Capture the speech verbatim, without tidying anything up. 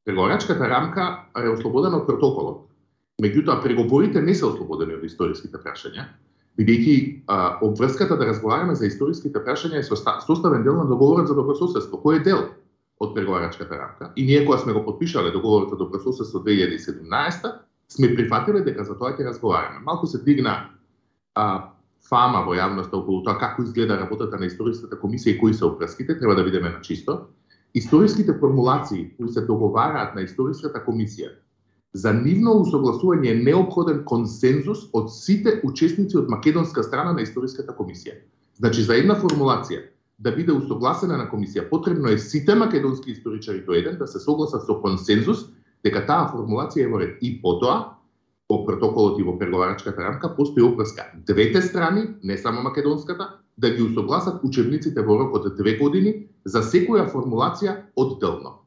Преговарачката рамка е ослободена од протоколот. Меѓутоа, преговорите не се ослободени од историските прашања, бидејќи обврската да разговараме за историските прашања е составен дел на договорот за добрососедство, кој е дел од преговарачката рамка. И ние кога сме го подпишале договорот за добрососедство две илјади и седумнаесета, сме прифатиле дека за тоа ќе разговараме. Малку се дигна а, фама во јавноста околу тоа како изгледа работата на историската комисија и кои се обврските, треба да видиме на чисто. Историските формулации кои се договараат на историската комисија, за нивно усогласување е неопходен консензус од сите учесници од македонска страна на историската комисија. Значи, за една формулација да биде усогласена на комисија, потребно е сите македонски историчари до еден да се согласат со консензус дека таа формулација е во ред. И потоа, по протоколот и во преговарачката рамка, постои обврска двете страни, не само македонската, да ги усогласат учебниците во рок од две години за секоја формулација одделно.